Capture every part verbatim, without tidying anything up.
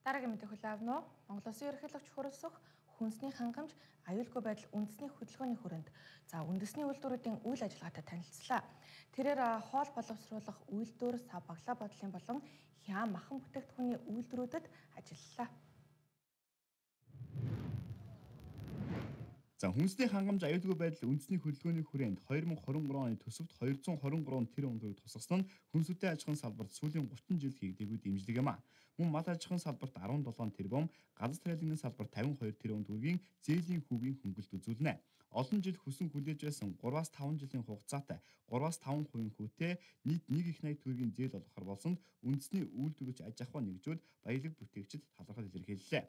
Дараагийн мэдээ хүлээвнө. Монгол Улсын ерөнхийлөгч хурлсах хүнсний хангамж аюулгүй байдал үндэсний хөдөлгөөний хүрээнд за үндэсний үйлдвэрүүдийн үйл ажиллагаатай танилцлаа. Тэрээр хоол боловсруулах үйлдвэр, сав баглаа бодлын болон хяам махан бүтээгдэхүүний үйлдвэрүүдэд ажиллалаа. За хүнсний хангамж аюулгүй байдал үндэсний хөдөлгөөний хүрээнд две тысячи двадцать три оны төсөвт two hundred twenty-three тэрбум төгрөг тусгасан нь хүнсүтэй аж ахуйн салбарт сүүлийн thirty жил хийгдээгүй дэмжлэг юм а. Мөн мал аж ахуйн салбарт seventeen тэрбум, газар тариалангийн салбарт fifty-two тэрбум төгрөгийн зээлийн хүүгийн хөнгөлт үзүүлнэ. Олон жил хүсэн хүлээж байсан three-five жилийн хугацаатай three-five percent хүүтэй нийт one их ninety төгрөгийн зээл олгохоор болсон үндэсний үйлдвэрч аж ахуй нэгжүүд баялаг бүтээгчид талархал илэрхийллээ.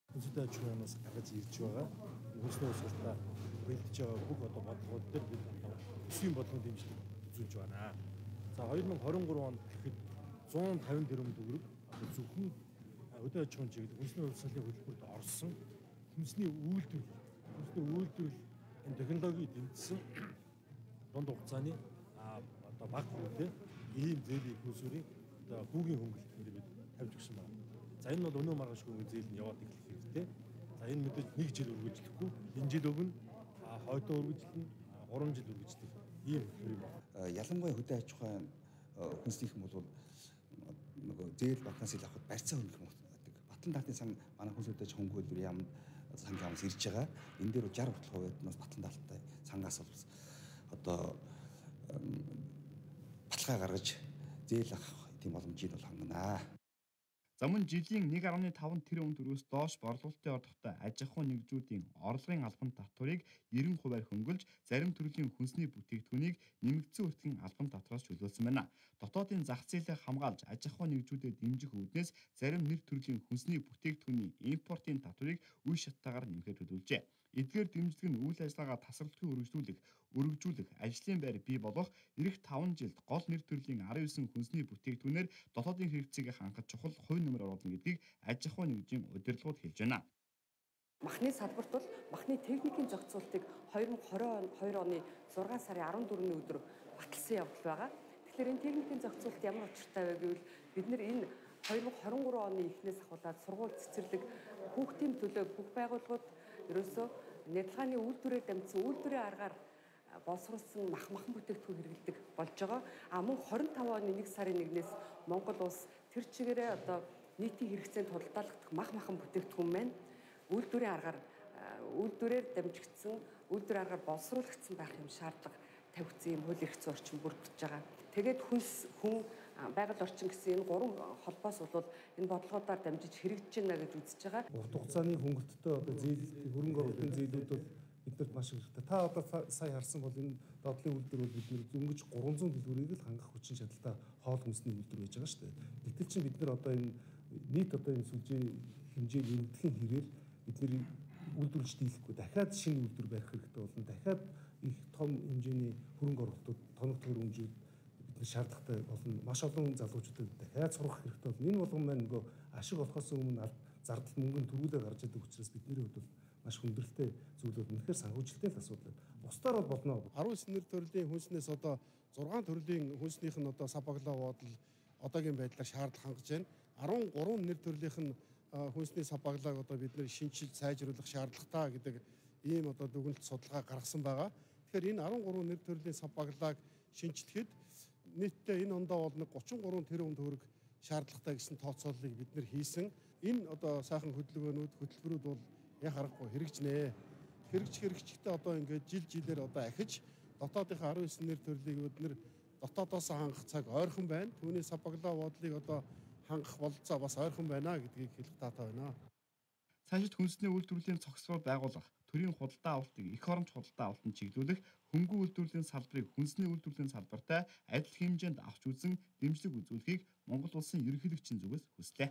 Хүнсүтэй аж ахуйнаас гаргаж ирж байгаа хүнсний усалтаа бэлдэж байгаа бүх одоо бодлогууд дээр бид өсвийн бодлого дэмжлэг үзүүлж байна. За twenty twenty-three онд гэхэд one fifty тэрбум төгрөг зөвхөн өдөө аж ахуйн чиглэл хүнсний усалтын хөтөлбөрт орсон хүнсний үйлдвэр хүнсний үйлдвэрлэл энэ технологи дэмжсэн дунд хугацааны одоо баг хүүтэй ийм зээлийн хүнсүрийн одоо хүүгийн хөнгөлөлтөнд бид тавьж өгсөн байна. За энэ бол өнөө маргааш хүүгийн зээл нь яваад эхлэх хэрэгтэй. За энэ мэдээж нэг жил үргэлжлэхгүй, энэ жил өгнө, хойдоо үргэлжлэнэ, three жил үргэлжлэх ийм хөр юм байна. Ялангуяа хөдөө аж ахуйн хүнснийх нь бол нөгөө зээл вакансил авахд барьцаа хөнгөх гэдэг. Батлан даалтын сан манай хүнсүтэй аж ахуйн хөлбөр яамд сангийн амс ирж байгаа. Энэ дээр sixty percent нас батлан даалттай сангаас бол одоо баталгаа гаргаж зээл авах тийм боломжийг бол хангана. За мөн жилийн one point five тэрбум төгрөгөөс доош борлуулалтын ордогтой аж ахуйн нэгжүүдийн орлогын албан татварыг ninety percent хөнгөлж, зарим төрлийн хүнсний бүтээгдэхүүнийг нэмэгдсэн үртгэн албан татвараас чөлөөлсөн байна. Дотоодын зах зээлийг хамгаалж аж ахуйн нэгжүүдэд дэмжих үүднээс зарим нэр төрлийн хүнсний бүтээгдэхүүний импортын татварыг үе шаттайгаар нэмэхээр төлөвлөжээ. Эдгээр дэмжлэг нь үйл ажиллагаа тасралтгүй өргөжлүүлэх, өргөжүүлэх, ажлын байр бий болох эх five жилд гол нэр төрлийн nineteen хүнсний бүтээгдэхүүнээр дотоодын хэрэгцээг хангах чухал хувь нэмэр оруулна гэдгийг аж ахуйн нэгжийн удирдлагууд хэлж байна. Махны салбарт бол махны техникийн зохицуултыг twenty twenty-two оны six сарын fourteen-ний өдөр баталсан явдал байгаа. Тэгэхээр энэ техникийн зохицуулт ямар учиртай вэ гэвэл бид нэр энэ twenty twenty-three оны эхнээс ахуулаад сургууль цэцэрлэг хүүхдийн төлөө бүх байгууллагууд ерөөсөө нядалгааны үйлдвэрээр дамжсан үйлдвэрийн аргаар боловсруулсан мах махан бүтээгдэхүүн хэрэглэдэг болж байгаа. А мөн twenty-five оны one сарын one-ээс Монгол улс тэр чигээрээ одоо нийтийн хэрэгцээнд худалдаалагдах мах махан бүтээгдэхүүн маань үйлдвэрийн аргаар үйлдвэрээр дамжигдсан үйлдвэрийн аргаар боловсруулагдсан байх юм шаардлага тавигдсан юм хууль эрх зүйн орчин бүрдэж байгаа. Тэгээд хүнс хүн байгаль орчин гэсэн энэ гурван холбоос бол энэ бодлогуудаар дамжиж хэрэгжиж байна гэж үзэж байгаа. Урт хугацааны хөнгөлөлтөд одоо зээл хөрөнгө оруулалтын зээлүүд бол биднэрт маш хэрэгтэй. Та одоо сая харсан бол энэ доотлын үйлдвэр бол бид дөнгөж three hundred дэлгүүрийг л хангах хүчин чадалтай хоол хүнсний үйлдвэр байж байгаа шүү дээ. Гэтэл чинь бид нар одоо энэ нийт одоо энэ сүлжээ хэмжээ нэмэгдэхин хэрээр бидний үйлдвэрлэж дийлэхгүй дахиад шинэ үйлдвэр барих хэрэгтэй болно. Дахиад их том хэмжээний хөрөнгө оруулалтууд, тоног төхөөрөмжүүд бидний шаардлагатай болно. Маш олон залуучуудад дахиад сурах хэрэгтэй болно. Энэ болгон маань нөгөө ашиг олохоос өмнө зардал мөнгөнд төрүүлээ гарч идэг учраас бидний хувьд бол маш хүндрэлтэй зүйлүүд үнэхээр санхүүжилттэй л асуудал байна. Бусдаар бол болно. nineteen нэр төрлийн хүнснээс одоо six төрлийн хүнснийх нь одоо сабаглаа бодол одоогийн байдлаар шаардлага хангаж байна. thirteen нэр төрлийнх нь хүнсний сабаглааг одоо бид нэр шинжил сайжруулах шаардлагатай гэдэг ийм одоо дүгнэлт судалгаа гаргасан байгаа. Тэгэхээр энэ thirteen нэр төрлийн сабаглааг шинжлэхэд нийтдээ энэ ондоо бол thirty-three тэрбум төгрөг шаардлагатай гэсэн тооцооллыг бид нэр хийсэн. Энэ одоо сайхан хөдөлгөөнүүд, хөтөлбөрүүд бол яг харахгүй хэрэгжнэ. Хэрэгж хэрэгжихтэй одоо ингээд жил жилээр одоо ахиж дотоодынхаа nineteen нэр төрлийг бид нэр дотоодоос хангах цаг ойрхон байна. Түүний сабаглаа бодлыг одоо хангах бололцоо бас ойрхон байна гэдгийг хэлэх таатай байна. Цаашид хүнсний үйлдвэрлэлийн цогцлол байгуулах, төрийн худалдаа авалтыг эх оромж худалдаа авалтанд чиглүүлэх, хөнгөн үйлдвэрлэлийн салбарыг хүнсний үйлдвэрлэлийн салбартай адил хэмжээнд авч үзэн дэмжлэг үзүүлэхийг Монгол улсын ерөнхийлөгчийн зүгээс хүслээ.